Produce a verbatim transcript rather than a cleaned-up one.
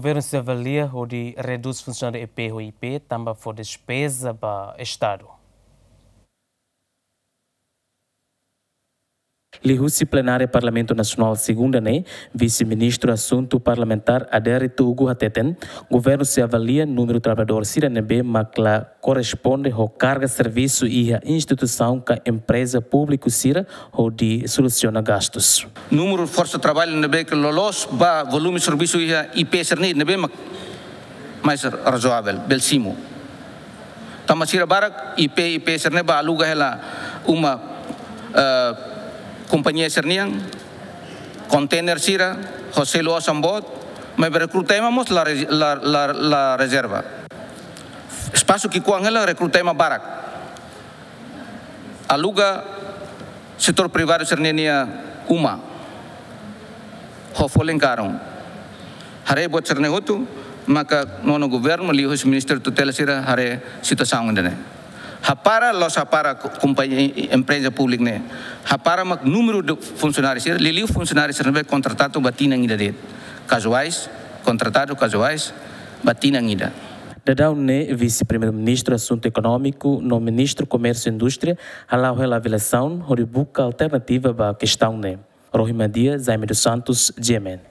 Governu sei avalia hodi redús funsionáriu I P ho I P tanba fó despeza ba Estadu. Liuhusi plenária Parlamentu Nasionál segunda ne'e, Vise-Ministru Asuntu Parlamentár Adérito Hugo hateten, governu sei avalia númeru traballadór sira ne'ebé mak la korresponde ho karga servisu iha instituisaun ka empreza públiku sira hodi solusiona gastus. Númeru forsa traballu ne'ebé ke loloos ba volume servisu iha I P sira-ne'e ne'ebé mak mais razoavel, bele simu. Tanba sira barak I P, I P sira-ne'e bá aluga hela uma, eh, kompañia sira-nian, kontener sira, ho selu osan boot, maibé rekruta ema mós la re-, la, la, la rezerva. Espasu ki'ikoan hela rekruta ema barak. Aluga setór privadu sira-nia uma ho folin karun. Haree buat sira-ne'e hotu, maka nonu governu liuhusi ministru tutela sira haree situasaun ida-ne'e. Hapara, la'ós hapara ko-, kompañia, empreza públiku ne'e. Hapara mak númeru de funsionáriu sira, liuliu funsionáriu sira ne'ebé kontratadu ba tinan ida de'it. Kazuais, kontratadu kazuais, ba tinan ida. Daudaun ne'e, Vise-Primeiru-Ministru Asuntu Ekonómiku no Ministru Komérsiu Indústria hala'o hela avaliasaun hodi buka alternativa ba kestaun ne'e. Rohi Madia, Jaime dos Santos, G M N.